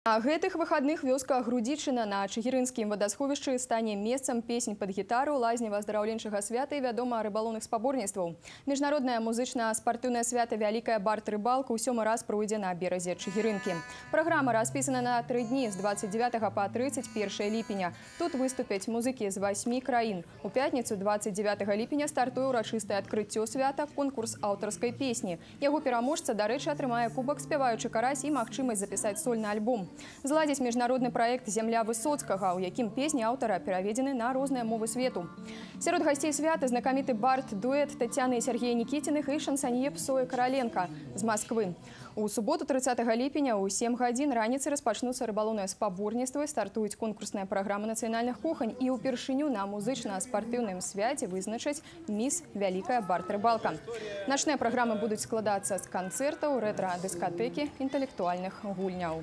А гэтых выходных вёска Грудзічына на Чыгірынскім вадасховішчы стане месцам песень пад гітару, лазнева-аздараўленчага свята і, вядома, рыбалоўных спаборніцтваў. Міжнароднае музычна-спартыўнае свята «Вялікая барт-рыбалка» ў 7-й раз пройдзе на беразе Чыгірынкі. Праграма распісана на 3 дні з 29 па 31 ліпеня. Тут выступяць музыкі з 8 краін. У пятніцу 29 ліпеня стартуе ўрачыстае адкрыццё свята, конкурс аўтарскай песні. Яго пераможца, дарэчы, атрымае кубак «Спяваючы карась» і магчымасць запісаць сольны альбом. Зладзіць міжнародны праект «Зямля Высоцкага», у якім песні аўтара пераведзены на розныя мовы свету. Сярод гасцей свята знакаміты бард-дуэт Тацяны і Сергея Нікітіных і шансанье Псоя Караленка з Масквы. У суботу 30 ліпеня ў 7 гадзін раніцы распачнуцца рыбалоўныя спаборніцтвы, стартуюць конкурсная праграма нацыянальных кухань і ўпершыню на музычна-спартыўным свяце вызначаць міс «Вялікая барт-рыбалка». Начныя праграмы будуць складацца з канцэртаў, рэтра-дыскатэкі, інтэлектуальных гульняў.